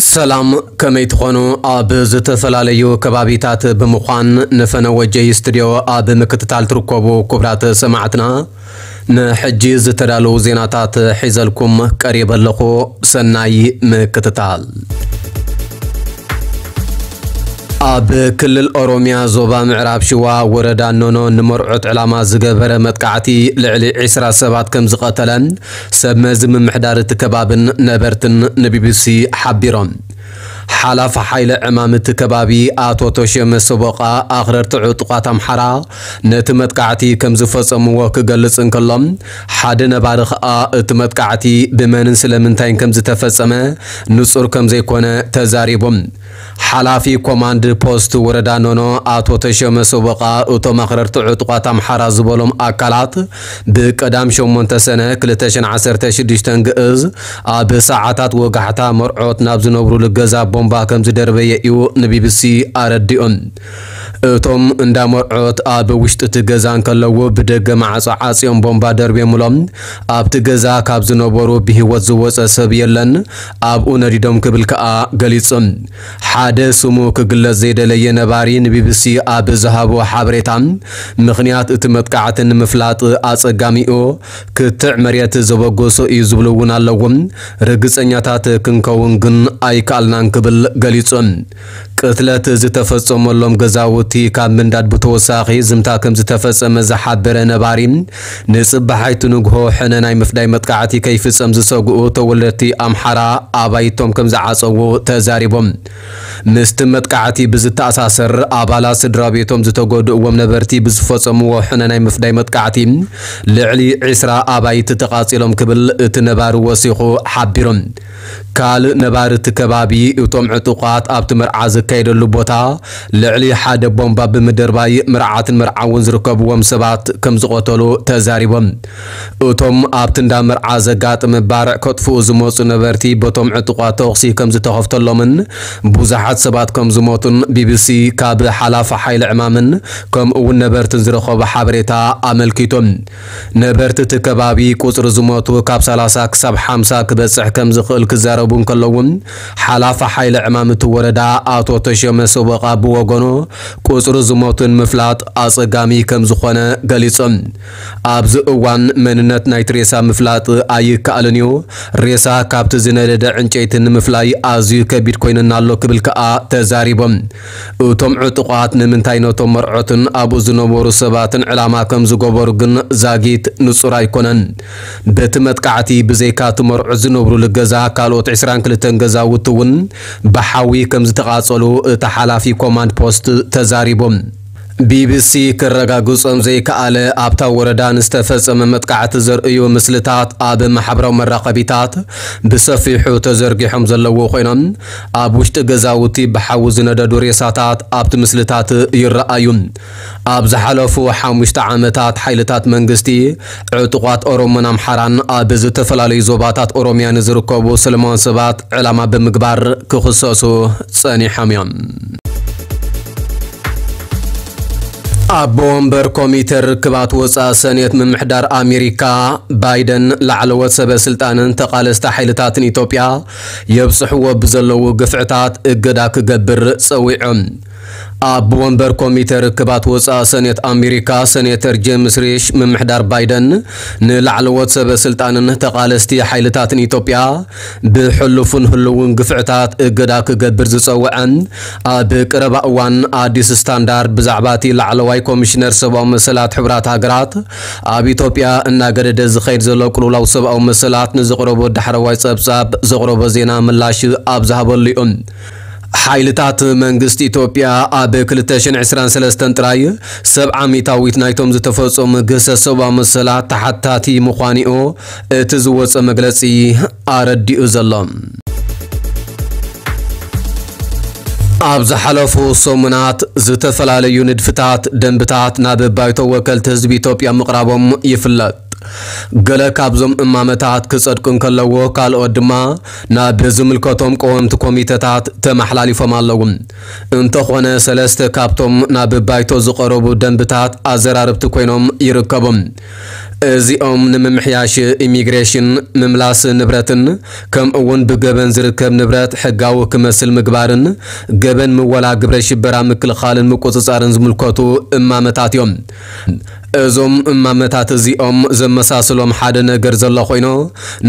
ሰላም፣ ከመይ ትኾኑ? ኣብ ዝተፈላለዩ ከባቢታት ብምዃን ንፈነወ ጀይ ስቱዲዮ ኣብ ምክትታል ትርከቡ ክቡራት ሰማዕትና፣ ንሕጂ ዝተዳለዉ ዜናታት ሒዘልኩም ቀሪበ ኣለኹ። ሰናይ ምክትታል። ኣብ ክልል ኦሮሚያ ዞባ ምዕራብ ሽዋ ወረዳ ኖኖ ንመርዑት ዕላማ ዝገበረ መጥቃዕቲ ልዕሊ ዕስራ ሰባት ከም ዝቐተለ ሰብ መዚ ምምሕዳር እቲ ከባብን ነበርትን ንቢቢሲ ሓቢሮም። ሓላፊ ሓይሊ ዕማም እቲ ከባቢ ኣቶ ተሸመ ሰቦቓ ኣኽረርቲ ዕጡቓት ኣምሓራ ነቲ መጥቃዕቲ ከም ዝፈጸምዎ ክገልጽ እንከሎ፣ ሓደ ነባሪ ከኣ እቲ መጥቃዕቲ ብመንን ስለምንታይን ከም ዝተፈጸመ ንጹር ከም ዘይኮነ ተዛሪቡ። ሓላፊ ኮማንድ ፖስት ወረዳ ኖኖ ኣቶ ተሸመ ሰቦቓ፣ እቶም ኣኽረርቲ ዕጡቓት ኣምሓራ ዝበሎም ኣካላት ብቀዳም ሸሞንተ ሰነ ክልተ ሽሕን ዓሰርተ ሽዱሽተን ግእዝ ኣብ ሰዓታት ወጋሕታ መርዖት ናብ ዝነብሩሉ ገዛ ቦምባ ከም ዝደርበየ እዩ ንቢቢሲ ኣረዲኡ። እቶም እንዳ መርዖት ኣብ ውሽጢ እቲ ገዛ እንከለዉ ብደገ ማዕጾ ዓጽዮም ቦምባ ደርብዮምሎም። ኣብቲ ገዛ ካብ ዝነበሩ ብህይወት ዝወጸ ሰብ የለን፣ ኣብኡ ነዲዶም ክብል ከኣ ገሊጹ። ሓደ ስሙ ክግለጽ ዘይደለየ ነባሪ ንቢቢሲ ኣብ ዝሃቦ ሓበሬታ፣ ምኽንያት እቲ መጥቃዕቲ ንምፍላጥ ኣጸጋሚኡ ክትዕ መሬት ዘበገሶ እዩ ዝብሉ እውን ኣለዉ። ርግጸኛታት ክንከውን ግን ኣይከኣልናን ክብል ገሊጹ። ቅትለት ዝተፈጸመሎም ገዛውቲ ካብ ምንዳድ ብተወሳኺ ዝምታ ከም ዝተፈጸመ ዝሓበረ ነባሪ፣ ንጽባሓይቲ ንግሆ ሕነ ናይ ምፍዳይ መጥቃዕቲ ከይፍጸም ዝሰግኡ ተወለድቲ ኣምሓራ ኣባይቶም ከም ዝዓጸዉ ተዛሪቦም። ምስቲ መጥቃዕቲ ብዝተኣሳሰር፣ ኣባላት ስድራ ቤቶም ዝተጎድእዎም ነበርቲ ብዝፈጸምዎ ሕነ ናይ ምፍዳይ መጥቃዕቲ ልዕሊ ዕስራ ኣባይቲ ተቓጺሎም ክብል እቲ ነባሪ ወሲኹ ሓቢሩ። ካልእ ነባሪ እቲ ከባቢ፣ እቶም ዕጡቓት ኣብቲ መርዓ ዝካየደሉ ቦታ ልዕሊ ሓደ ቦምባ ብምድርባይ፣ መርዓትን መርዓውን ዝርከብዎም ሰባት ከም ዝቐተሉ ተዛሪቦም። እቶም ኣብቲ እንዳ መርዓ ዘጋጠመ ባርዕ ከጥፍኡ ዝመጹ ነበርቲ በቶም ዕጡቓት ተኹሲ ከም ዝተኸፍተሎምን ብዙሓት ሰባት ከም ዝሞቱን ቢቢሲ ካብ ሓላፊ ሓይሊ ዕማምን ከምኡ እውን ነበርትን ዝረኸቦ ሓበሬታ ኣመልኪቱ። ነበርቲ እቲ ከባቢ ቁጽሪ ዝሞቱ ካብ ሰላሳ ክሳብ ሓምሳ ክበጽሕ ከም ዝኽእል ክዛረቡ እንከለዉ፣ ሓላፊ ሓይሊ ዕማም እቲ ወረዳ ኣቶ ተሸመ ሰቦቓ ብወገኑ፣ ቁጽሪ ዝሞቱ ንምፍላጥ ኣጸጋሚ ከም ዝኾነ ገሊጹ። ኣብዚ እዋን መንነት ናይቲ ሬሳ ምፍላጥ ኣይከኣልን እዩ። ሬሳ ካብቲ ዝነደደ ዕንጨይቲ ንምፍላይ ኣዝዩ ከቢድ ኮይኑና ኣሎ ክብል ከኣ ተዛሪቦም። እቶም ዕጡቓት ንምንታይ ነቶም መርዑትን ኣብኡ ዝነበሩ ሰባትን ዕላማ ከም ዝገበሩ ግን ዛጊት ንጹር ኣይኮነን። በቲ መጥቃዕቲ ብዘይካ እቲ መርዑት ዝነብሩሉ ገዛ ካልኦት ዕስራን ክልተን ገዛውቲ እውን ብሓዊ ከም ዝተቓጸሉ እቲ ሓላፊ ኮማንድ ፖስት ተዛሪቦም። ቢቢሲ ክረጋግጾም ዘይከኣለ ኣብታ ወረዳ ንዝተፈጸመ መጥቃዕቲ ዘርእዩ ምስልታት ኣብ ማሕበራዊ መራኸቢታት ብሰፊሑ ተዘርጊሖም ዘለዉ ኮይኖም፣ ኣብ ውሽጢ ገዛውቲ ብሓዊ ዝነደዱ ሬሳታት ኣብቲ ምስልታት ይረኣዩ። ኣብ ዝሓለፉ ሓሙሽተ ዓመታት ሓይልታት መንግስቲ ዕጡቓት ኦሮሞን ኣምሓራን ኣብ ዝተፈላለዩ ዞባታት ኦሮሚያ ንዝርከቡ ሰላማውያን ሰባት ዕላማ ብምግባር ክኽሰሱ ጸኒሖም እዮም። ኣቦ ወንበር ኮሚተ ርክባት ወጻኢ ሰኔት ምምሕዳር ኣሜሪካ ባይደን ላዕለዎት ሰበ ስልጣንን ተቓለስቲ ሓይልታትን ኢትዮጵያ የብጽሕዎ ብዘለዉ ግፍዕታት እገዳ ክገብር ጸዊዖም። ኣቦ ወንበር ኮሚተ ርክባት ወጻኢ ሰኔት ኣሜሪካ ሰኔተር ጄምስ ሪሽ ምምሕዳር ባይደን ንላዕለዎት ሰበ ስልጣንን ተቓለስቲ ሓይልታትን ኢትዮጵያ ብሕሉፉን ህልውን ግፍዕታት እገዳ ክገብር ዝጸውዐ፣ ኣብ ቀረባ እዋን ኣዲስ ስታንዳርድ ብዛዕባ እቲ ላዕለዋይ ኮሚሽነር ሰብኣዊ መሰላት ሕቡራት ሃገራት ኣብ ኢትዮጵያ እናገደደ ዝኸይድ ዘሎ ቅልውላው ሰብኣዊ መሰላት ንዘቕረቦ ዳሕረዋይ ጸብጻብ ዘቕረቦ ዜና ምላሽ ኣብ ዝሃበሉ እዩ። ሓይልታት መንግስቲ ኢትዮጵያ ኣብ ክልተ ሽሕን ዕስራን ሰለስተን ጥራይ ሰብዓ ሚእታዊት ናይቶም ዝተፈጸሙ ግህሰት ሰብኣዊ መሰላት ተሓታቲ ምዃኒኡ እቲ ዝወጸ መግለጺ ኣረዲኡ ዘሎ። ኣብ ዝሓለፉ ሰሙናት ዝተፈላለዩ ንድፍታት ደንብታት ናብ ባይቶ ወከልቲ ህዝቢ ኢትዮጵያ ምቕራቦም ይፍለጥ። ገለ ካብዞም እማመታት ክጸድቁ እንከለዎ፣ ካልኦት ድማ ናብ ዝምልከቶም ቀወምቲ ኮሚተታት ተመሓላሊፎም ኣለዉ። እንተኾነ፣ ሰለስተ ካብቶም ናብ ባይቶ ዝቐረቡ ደንብታት ኣዘራረብቲ ኮይኖም ይርከቡ። እዚኦም ንምምሕያሽ ኢሚግሬሽን፣ ምምላስ ንብረትን ከምኡ እውን ብገበን ዝርከብ ንብረት ሕጋዊ ክመስል ምግባርን ገበን ምወላ ግብረ ሽበራ ምክልኻልን ምቁፅፃርን ዝምልከቱ እማመታት እዮም። እዞም እማመታት እዚኦም ዘመሳስሎም ሓደ ነገር ዘሎ ኮይኑ፣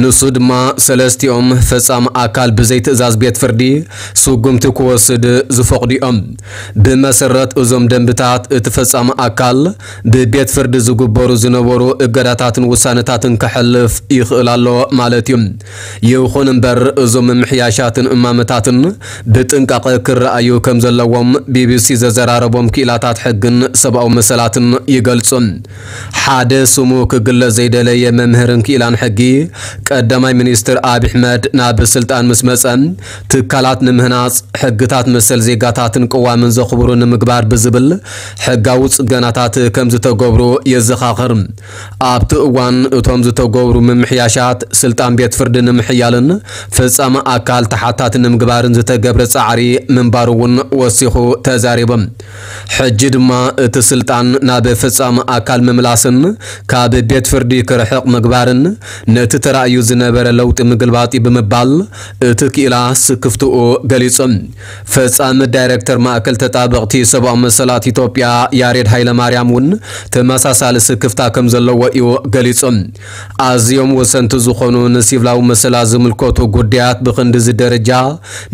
ንሱ ድማ ሰለስቲኦም ፈጻሚ ኣካል ብዘይ ትእዛዝ ቤት ፍርዲ ስጉምቲ ክወስድ ዝፈቕዱ እዮም። ብመሰረት እዞም ደንብታት፣ እቲ ፈጻሚ ኣካል ብቤት ፍርዲ ዝግበሩ ዝነበሩ እገዳታትን ውሳነታትን ከሕልፍ ይኽእል ኣሎ ማለት እዩ። ይኹን እምበር፣ እዞም ምምሕያሻትን እማመታትን ብጥንቃቐ ክረኣዩ ከም ዘለዎም ቢቢሲ ዘዘራረቦም ክኢላታት ሕግን ሰብኣዊ መሰላትን ይገልጹ። ሓደ ስሙ ክግለጽ ዘይደለየ መምህርን ክኢላን ሕጊ፣ ቀዳማይ ሚኒስትር ኣብይ ኣሕመድ ናብ ስልጣን ምስ መጸ፣ ትካላት ንምህናጽ፣ ሕግታት መሰል ዜጋታትን ቅዋምን ዘኽብሩ ንምግባር ብዝብል ሕጋዊ ጽገናታት ከም ዝተገብሩ የዘኻኽር። ኣብቲ እዋን፣ እቶም ዝተገብሩ ምምሕያሻት ስልጣን ቤት ፍርዲ ንምሕያልን ፈጻሚ ኣካል ተሓታቲ ንምግባርን ዝተገብረ ጻዕሪ ምንባሩ እውን ወሲኹ ተዛሪቡ። ሕጂ ድማ እቲ ስልጣን ናብ ፈጻሚ ኣካል ምምላስን ካብ ቤት ፍርዲ ክርሕቕ ምግባርን ነቲ ተራእዩ ዝነበረ ለውጢ ምግልባጥ እዩ ብምባል እቲ ክኢላ ስክፍትኡ ገሊጹ። ፈጻሚ ዳይሬክተር ማእከል ተጣበቕቲ ሰብኣዊ መሰላት ኢትዮጵያ ያሬድ ሃይለማርያም እውን ተመሳሳሊ ስክፍታ ከም ዘለዎ እዩ ገሊጹ። ኣዝዮም ወሰንቲ ዝኾኑ ንሲቪላዊ መሰላት ዝምልከቱ ጉዳያት ብኽንድዚ ደረጃ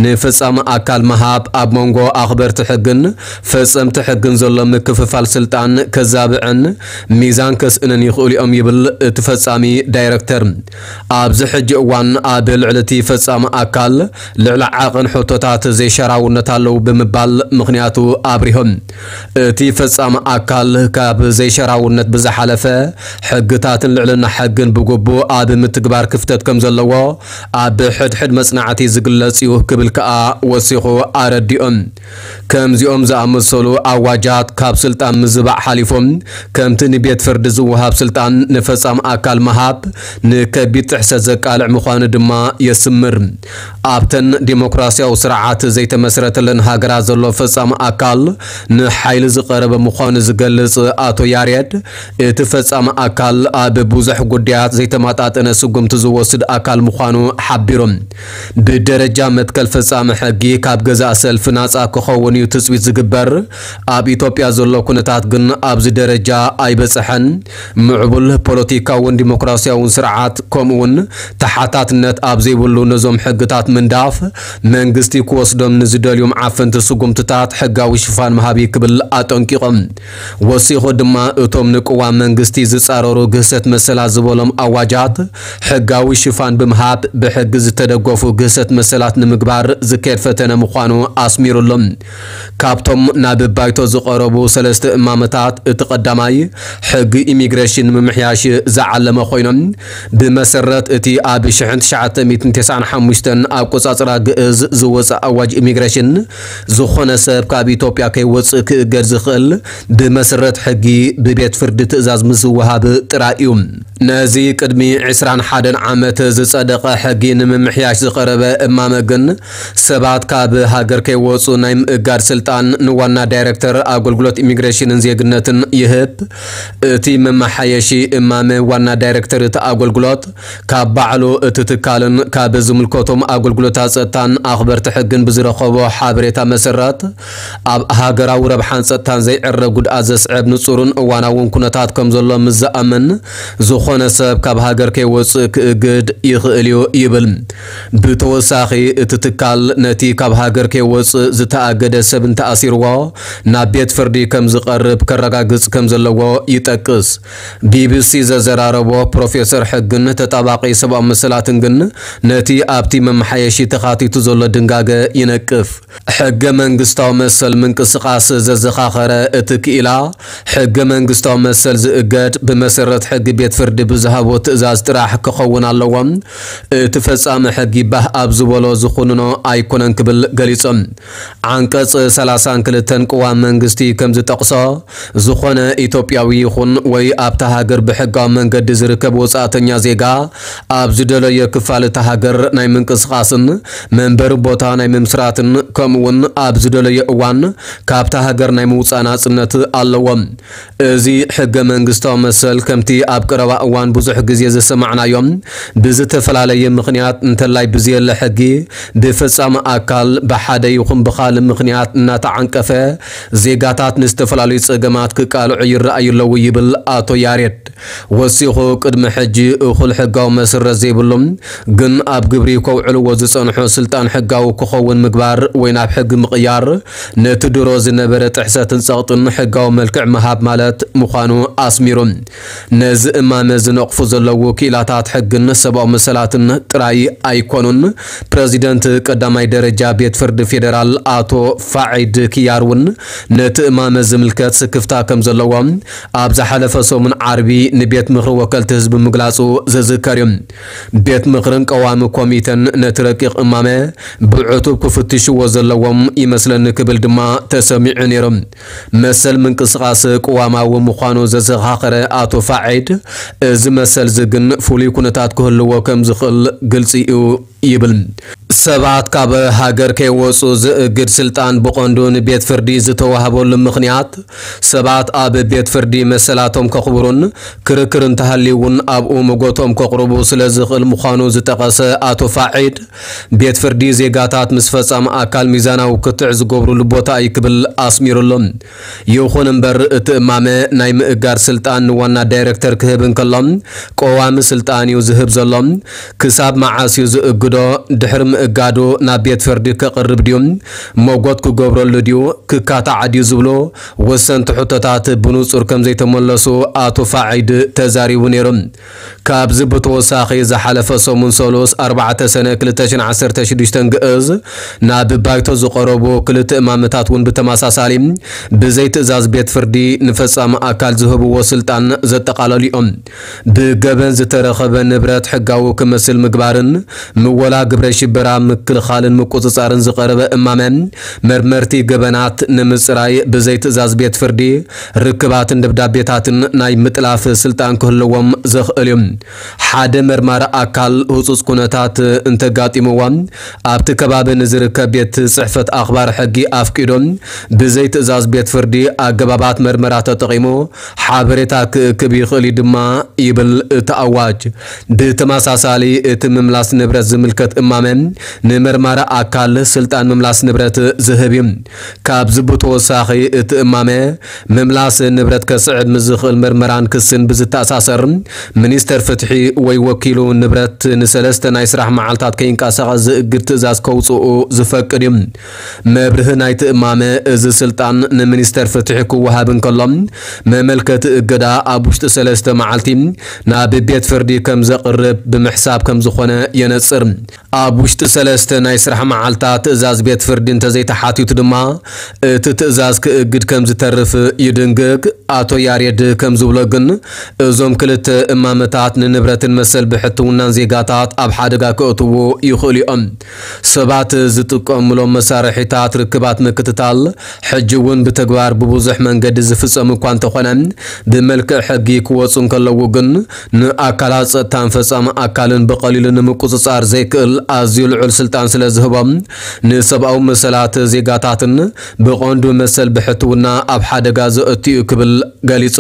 ንፈጻሚ ኣካል ምሃብ ኣብ መንጎ ኣኽበርቲ ሕግን ፈጸምቲ ሕግን ዘሎ ምክፍፋል ስልጣን ከዛብዕን ሚዛን ከስእንን ይኽእሉ እዮም ይብል እቲ ፈጻሚ ዳይረክተር። ኣብዚ ሕጂ እዋን ኣብ ልዕሊ እቲ ፈጻሚ ኣካል ልዕሊ ዓቐን ሕቶታት ዘይሸራውነት ኣለዉ ብምባል ምኽንያቱ ኣብሪሆም። እቲ ፈጻሚ ኣካል ካብ ዘይሸራውነት ብዝሓለፈ ሕግታትን ልዕልና ሕግን ብግቡእ ኣብ ምትግባር ክፍተት ከም ዘለዎ ኣብ ሕድሕድ መጽናዕቲ ዝግለጽ እዩ ክብል ከኣ ወሲኹ ኣረዲኦም። ከምዚኦም ዝኣመሰሉ ኣዋጃት ካብ ስልጣን ምዝባዕ ሓሊፎም ከምቲ ንቤት ፍርዲ ዝወሃብ ስልጣን ንፈጻሚ ኣካል ምሃብ ንከቢድ ጥሕሰት ዘቃልዕ ምዃኑ ድማ የስምር። ኣብተን ዲሞክራሲያዊ ስርዓት ዘይተመስረተለን ሃገራት ዘሎ ፈጻሚ ኣካል ንሓይሊ ዝቐረበ ምዃኑ ዝገልጽ ኣቶ ያሬድ፣ እቲ ፈጻሚ ኣካል ኣብ ብዙሕ ጉዳያት ዘይተመጣጠነ ስጉምቲ ዝወስድ ኣካል ምዃኑ ሓቢሩ። ብደረጃ መትከል ፈጻሚ ሕጊ ካብ ገዛእ ሰልፊ ናጻ ክኸውን እዩ ትጽቢት ዝግበር። ኣብ ኢትዮጵያ ዘሎ ኩነታት ግን ኣብዚ ደረጃ ኣይበጽሐን። ምዕቡል ፖለቲካውን ዲሞክራሲያውን ስርዓት ከምኡውን ተሓታትነት ኣብ ዘይብሉ ነዞም ሕግታት ምንዳፍ መንግስቲ ክወስዶም ንዝደልዮም ዓፈንቲ ስጉምትታት ሕጋዊ ሽፋን ምሃብ እዩ ክብል ኣጠንቂቖም። ወሲኹ ድማ እቶም ንቅዋም መንግስቲ ዝጻረሩ ግህሰት መሰላት ዝበሎም ኣዋጃት ሕጋዊ ሽፋን ብምሃብ ብሕጊ ዝተደገፉ ግህሰት መሰላት ንምግባር ዝካየድ ፈተነ ምዃኑ ኣስሚሩሎም። ካብቶም ናብ ባይቶ ዝቐረቡ ሰለስተ እማመታት እቲ ቀዳማይ ሕጊ ኢሚግሬሽን ንምምሕያሽ ዝዓለመ ኮይኖም፣ ብመሰረት እቲ ኣብ ሽሕን ትሽዓተ ሚእትን ተስዓን ሓሙሽተን ኣቆጻጽራ ግእዝ ዝወጸ ኣዋጅ ኢሚግሬሽን፣ ዝኾነ ሰብ ካብ ኢትዮጵያ ከይወጽእ ክእገድ ዝኽእል ብመሰረት ሕጊ ብቤት ፍርዲ ትእዛዝ ምስ ዝወሃብ ጥራይ እዩ። ነዚ ቅድሚ ዕስራን ሓደን ዓመት ዝጸደቐ ሕጊ ንምምሕያሽ ዝቐረበ እማመ ግን፣ ሰባት ካብ ሃገር ከይወጹ ናይ ምእጋድ ስልጣን ንዋና ዳይረክተር ኣገልግሎት ኢሚግሬሽንን ዜግነትን ይህብ። እቲ መመሓየሺ እማመ ዋና ዳይረክተር እቲ ኣገልግሎት ካብ ባዕሉ እቲ ትካልን ካብ ዝምልከቶም ኣገልግሎታት ጸጥታን ኣኽበርቲ ሕግን ብዝረኸቦ ሓበሬታ መሰረት፣ ኣብ ሃገራዊ ረብሓን ጸጥታን ዘይዕረ ጉድኣት ዘስዕብ ንጹርን እዋናውን ኩነታት ከም ዘሎ ምስ ዝኣምን፣ ዝኾነ ሰብ ካብ ሃገር ከይወጽእ ክእግድ ይኽእል እዩ ይብል። ብተወሳኺ፣ እቲ ትካል ነቲ ካብ ሃገር ከይወጽእ ዝተኣገደ ሰብ እንተኣሲርዎ፣ ናብ ቤት ፍርዲ ከም ዝቐርብ ከረጋግጽ ከም ዘለዎ ይጠቅስ። ቢቢሲ ዘዘራረቦ ፕሮፌሰር ሕግን ተጣባቂ ሰብኣዊ መሰላትን ግን፣ ነቲ ኣብቲ መመሓየሺ ተኻቲቱ ዘሎ ድንጋገ ይነቅፍ። ሕገ መንግስታዊ መሰል ምንቅስቓስ ዘዘኻኸረ እቲ ክኢላ፣ ሕገ መንግስታዊ መሰል ዝእገድ ብመሰረት ሕጊ ቤት ፍርዲ ብዝሃቦ ትእዛዝ ጥራሕ ክኸውን ኣለዎ። እቲ ፈጻሚ ሕጊ ባህ ኣብ ዝበሎ ዝኹንኖ ኣይኮነን ክብል ገሊጹ። ዓንቀጽ ሰላሳን ክልተን ቅዋም መንግስቲ ከም ዝጠቕሶ፣ ዝኾነ ኢትዮጵያ ኢትዮጵያዊ ይኹን ወይ ኣብታ ሃገር ብሕጋዊ መንገዲ ዝርከብ ወጻእተኛ ዜጋ ኣብ ዝደለየ ክፋል እታ ሃገር ናይ ምንቅስቓስን መንበሪ ቦታ ናይ ምምስራትን ከምኡውን ኣብ ዝደለየ እዋን ካብታ ሃገር ናይ ምውጻእ ናጽነት ኣለዎ። እዚ ሕገ መንግስታዊ መሰል ከምቲ ኣብ ቀረባ እዋን ብዙሕ ግዜ ዝሰማዕናዮ ብዝተፈላለየ ምኽንያት እንተላይ ብዘየለ ሕጊ ብፈጻሚ ኣካል ብሓደ ይኹን ብኻልእ ምኽንያት እናተዓንቀፈ ዜጋታት ንዝተፈላለዩ ጸገማት ክቃልዑ ይረኣዩ ኣለዉ ይብል ኣቶ ያሬድ። ወሲኹ ቅድሚ ሕጂ እኹል ሕጋዊ መሰረት ዘይብሎም ግን ኣብ ግብሪ ከውዕልዎ ዝጸንሑ ስልጣን ሕጋዊ ክኸውን ምግባር ወይ ናብ ሕጊ ምቕያር ነቲ ድሮ ዝነበረ ጥሕሰትን ጸቕጥን ሕጋዊ መልክዕ ምሃብ ማለት ምዃኑ ኣስሚሩ። ነዚ እማመ ዝነቕፉ ዘለዉ ክኢላታት ሕግን ሰብኣዊ መሰላትን ጥራይ ኣይኮኑን። ፕረዚደንት ቀዳማይ ደረጃ ቤት ፍርዲ ፌደራል ኣቶ ፋዒድ ኪያር እውን ነቲ እማመ ዝምልከት ስክፍታ ከም ዘለዎ ኣብ ዝሓለፈ ሰሙን ዓርቢ ንቤት ምኽሪ ወከልቲ ህዝቢ ምግላጹ ዝዝከር እዩ። ቤት ምኽርን ቀዋሚ ኮሚተን ነቲ ረቂቕ እማመ ብዕቱብ ክፍትሽዎ ዘለዎም ይመስለኒ ክብል ድማ ተሰሚዑ ነይሩ። መሰል ምንቅስቓስ ቅዋማዊ ምዃኑ ዘዘኻኸረ ኣቶ ፋዒድ፣ እዚ መሰል እዚ ግን ፍሉይ ኩነታት ክህልዎ ከም ዝኽእል ግልጺ እዩ ይብል። ሰባት ካብ ሃገር ከይወጹ ዝእግድ ስልጣን ብቐንዱ ንቤት ፍርዲ ዝተዋህበሉ ምኽንያት፣ ሰባት ኣብ ቤት ፍርዲ መሰላቶም ከኽብሩን ክርክር እንተሃልዩ እውን ኣብኡ መጎቶም ከቕርቡ ስለ ዝኽእል ምዃኑ ዝጠቐሰ ኣቶ ፋዒድ፣ ቤት ፍርዲ ዜጋታት ምስ ፈጻሚ ኣካል ሚዛናዊ ክትዕ ዝገብሩሉ ቦታ እዩ ክብል ኣስሚሩሉ። ይኹን እምበር እቲ እማመ ናይ ምእጋድ ስልጣን ንዋና ዳይረክተር ክህብ እንከሎ፣ ቀዋሚ ስልጣን እዩ ዝህብ ዘሎ። ክሳብ መዓስ እዩ ዝእግዶ? ድሕሪ ምእጋዱ ናብ ቤት ፍርዲ ከቕርብ ድዩ? መጎት ክገብረሉ ድዩ? ክካታዕ ድዩ ዝብሉ ወሰንቲ ሕቶታት ብንጹር ከም ዘይተመለሱ ኣቶ ፋዒድ ተዛሪቡ ነይሩ። ካብዚ ብተወሳኺ ዝሓለፈ ሰሙን ሰሉስ ኣርባዕተ ሰነ ክልተ ሽሕን ዓሰርተ ሽዱሽተን ግእዝ ናብ ባይቶ ዝቐረቡ ክልተ እማመታት እውን ብተመሳሳሊ ብዘይ ትእዛዝ ቤት ፍርዲ ንፈጻሚ ኣካል ዝህብዎ ስልጣን ዘጠቓለሉ እዮም። ብገበን ዝተረኸበ ንብረት ሕጋዊ ክመስል ምግባርን ምወላ ግብረ ሽበራ ምክልኻልን ምቁጽጻርን ዝቐረበ እማመ፣ መርመርቲ ገበናት ንምጽራይ ብዘይ ትእዛዝ ቤት ፍርዲ ርክባትን ደብዳቤታትን ናይ ምጥላፍ ስልጣን ክህልዎም ዘኽእል እዩ። ሓደ መርማሪ ኣካል ህጹጽ ኩነታት እንተጋጢምዎ፣ ኣብቲ ከባቢ ንዝርከብ ቤት ጽሕፈት ኣኽባር ሕጊ ኣፍቂዱ ብዘይ ትእዛዝ ቤት ፍርዲ ኣገባባት መርመራ ተጠቒሙ ሓበሬታ ክእክብ ይኽእል እዩ ድማ ይብል እቲ ኣዋጅ። ብተመሳሳሊ እቲ ምምላስ ንብረት ዝምልከት እማመ ንመርማሪ ኣካል ስልጣን ምምላስ ንብረት ዝህብ እዩ። ካብዚ ብተወሳኺ እቲ እማመ ምምላስ ንብረት ከስዕብ ምስ ዝኽእል መርመራን ክስን ብዝተኣሳሰር ሚኒስተር ፍትሒ ወይ ወኪሉ ንብረት ንሰለስተ ናይ ስራሕ መዓልታት ከይንቀሳቐስ ዝእግድ ትእዛዝ ከውፅኡ ዝፈቅድ እዩ። መብርሂ ናይቲ እማመ፣ እዚ ስልጣን ንሚኒስተር ፍትሒ ክወሃብ እንከሎ፣ መመልከቲ እገዳ ኣብ ውሽጢ ሰለስተ መዓልቲ ናብ ቤት ፍርዲ ከም ዘቕርብ ብምሕሳብ ከም ዝኾነ የነጽር። ኣብ ውሽጢ ሰለስተ ናይ ስራሕ መዓልታት ትእዛዝ ቤት ፍርዲ እንተዘይተሓቲቱ ድማ፣ እቲ ትእዛዝ ክእግድ ከም ዝተርፍ ይድንግግ። ኣቶ ያሬድ ከም ዝብሎ ግን፣ እዞም ክልተ እማመታት ንንብረትን መሰል ብሕትውናን ዜጋታት ኣብ ሓደጋ ከእትዉ ይኽእሉ እዮም። ሰባት ዝጥቀሙሎም መሳርሒታት ርክባት ምክትታል፣ ሕጂ እውን ብተግባር ብብዙሕ መንገዲ ዝፍጸም እኳ እንተኾነ፣ ብመልክዕ ሕጊ ክወጹ እንከለዉ ግን፣ ንኣካላት ጸጥታን ፈጻሚ ኣካልን ብቐሊሉ ንምቁጽጻር ዘይክእል ኣዝዩ ልዑል ስልጣን ስለ ዝህቦም፣ ንሰብኣዊ መሰላት ዜጋታትን ብቐንዱ መሰል ብሕትውና ኣብ ሓደጋ ዘእቱ እዩ ክብል ገሊጹ።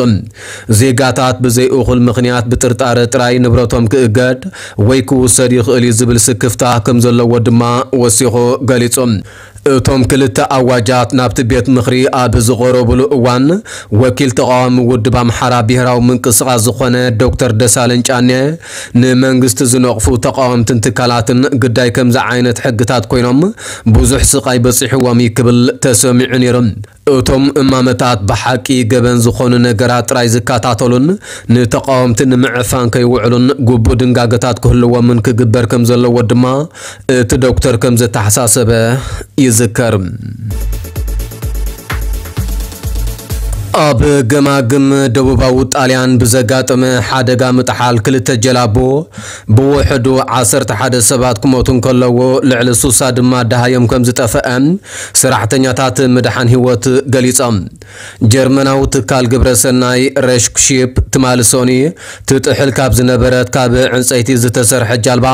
ዜጋታት ብዘይ እኹል ምኽንያት ብጥርጣረ ጥራይ ንብረቶም ክእገድ ወይ ክውሰድ ይኽእል እዩ ዝብል ስክፍታ ከም ዘለዎ ድማ ወሲኹ ገሊጹ። እቶም ክልተ ኣዋጃት ናብቲ ቤት ምኽሪ ኣብ ዝቐረቡሉ እዋን፣ ወኪል ተቓዋሚ ውድብ ኣምሓራ ብሄራዊ ምንቅስቓስ ዝኾነ ዶክተር ደሳለኝ ጫኔ፣ ንመንግስቲ ዝነቕፉ ተቓወምትን ትካላትን ግዳይ ከምዚ ዓይነት ሕግታት ኮይኖም ብዙሕ ስቓይ በፂሕዎም እዩ ክብል ተሰሚዑ ነይሩ። እቶም እማመታት ብሓቂ ገበን ዝኾኑ ነገራት ጥራይ ዝከታተሉን ንተቓወምቲ ንምዕፋን ከይውዕሉን ግቡእ ድንጋገታት ክህልዎምን ክግበር ከም ዘለዎ ድማ እቲ ዶክተር ከም ዘተሓሳሰበ ይዝከር። ኣብ ገማግም ደቡባዊ ጣልያን ብዘጋጠመ ሓደጋ ምጥሓል ክልተ ጀላቡ ብውሕዱ ዓሰርተ ሓደ ሰባት ክሞቱ እንከለዉ፣ ልዕሊ ሱሳ ድማ ደሃዮም ከም ዝጠፈአ ሰራሕተኛታት ምድሓን ህይወት ገሊጾም። ጀርመናዊ ትካል ግብረ ሰናይ ሬሽክሺፕ ትማሊ ሰኑይ ትጥሕል ካብ ዝነበረት ካብ ዕንጸይቲ ዝተሰርሐ ጃልባ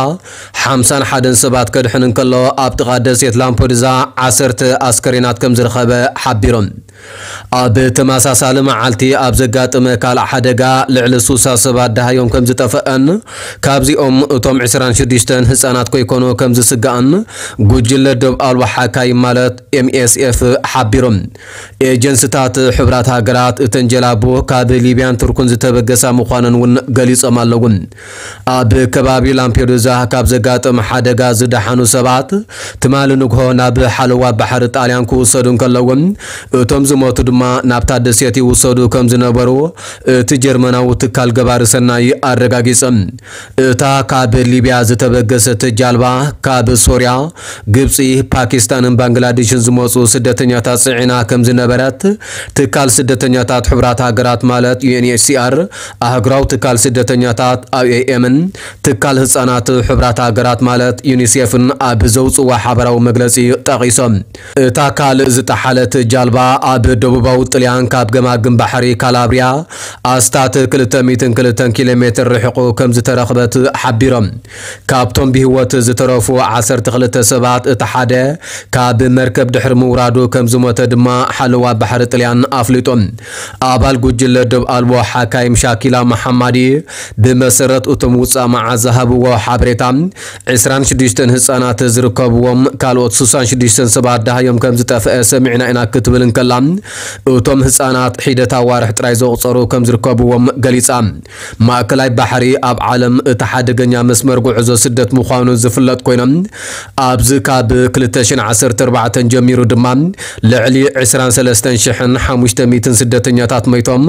ሓምሳን ሓደን ሰባት ከድሕን እንከሎ፣ ኣብ ጥቓ ደሴት ላምፖዱዛ ዓሰርተ ኣስከሬናት ከም ዝረኸበ ሓቢሮም። ኣብ ተመሳሳሊ መዓልቲ ኣብ ዘጋጠመ ካልእ ሓደጋ ልዕሊ ሱሳ ሰባት ደሃዮም ከም ዝጠፈአን ካብዚኦም እቶም ዕስራን ሽዱሽተን ህጻናት ኮይኮኑ ከም ዝስጋእን ጉጅለ ደብ ኣልቦ ሓካይ ማለት ኤምኤስኤፍ ሓቢሮም። ኤጀንስታት ሕቡራት ሃገራት እተን ጀላቡ ካብ ሊብያን ቱርክን ዝተበገሳ ምዃነን እውን ገሊጾም ኣለዉ። ኣብ ከባቢ ላምፔዱዛ ካብ ዘጋጠመ ሓደጋ ዝደሓኑ ሰባት ትማሊ ንግሆ ናብ ሓለዋ ባሕሪ ጣልያን ክውሰዱ እንከለዉ፣ እቶም ዝሞቱ ድማ ናብታ ደሴት ይውሰዱ ከም ዝነበሩ እቲ ጀርመናዊ ትካል ገባሪ ሰናይ ኣረጋጊጸ። እታ ካብ ሊብያ ዝተበገሰት ጃልባ ካብ ሶርያ፣ ግብጺ፣ ፓኪስታንን ባንግላዴሽን ዝመጹ ስደተኛታት ጽዒና ከም ዝነበረት ትካል ስደተኛታት ሕቡራት ሃገራት ማለት ዩኤንኤችሲኣር፣ ኣህጉራዊ ትካል ስደተኛታት ኣይኦኤምን ትካል ህጻናት ሕቡራት ሃገራት ማለት ዩኒሴፍን ኣብ ዘውጽዋ ሓበራዊ መግለጺ ጠቒሶም። እታ ካልእ ዝጠሓለት ጃልባ ኣብ ደቡባዊ ጥልያን ካብ ገማግም ባሕሪ ካላብሪያ ኣስታት ክልተ ሚእትን ክልተን ኪሎ ሜትር ርሒቑ ከም ዝተረኽበት ሓቢሮም። ካብቶም ብህይወት ዝተረፉ ዓሰርተ ክልተ ሰባት እቲ ሓደ ካብ መርከብ ድሕሪ ምውራዱ ከም ዝሞተ ድማ ሓለዋ ባሕሪ ጥልያን ኣፍሊጡ። ኣባል ጉጅለ ደብ ኣልቦ ሓካይም ሻኪላ መሓማዲ ብመሰረት እቶም ውጻእ መዓት ዝሃብዎ ሓበሬታ፣ ዕስራን ሽዱሽተን ህጻናት ዝርከብዎም ካልኦት ስሳን ሽዱሽተን ሰባት ደሃዮም ከም ዝጠፍአ ሰሚዕና ኢና ክትብል እንከላ፣ እቶም ህጻናት ሒደት ኣዋርሕ ጥራይ ዘቑጸሩ ከም ዝርከብዎም ገሊጻ። ማእከላይ ባሕሪ ኣብ ዓለም እቲ ሓደገኛ መስመር ጉዕዞ ስደት ምዃኑ ዝፍለጥ ኮይኖም፣ ኣብዚ ካብ ክልተ ሽሕን ዓሰርተ ኣርባዕተን ጀሚሩ ድማ ልዕሊ ዕስራን ሰለስተን ሽሕን ሓሙሽተ ሚእትን ስደተኛታት መይቶም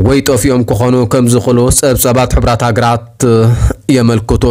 ወይ ጠፊኦም ክኾኑ ከም ዝኽእሉ ጸብጻባት ሕቡራት ሃገራት የመልክቱ።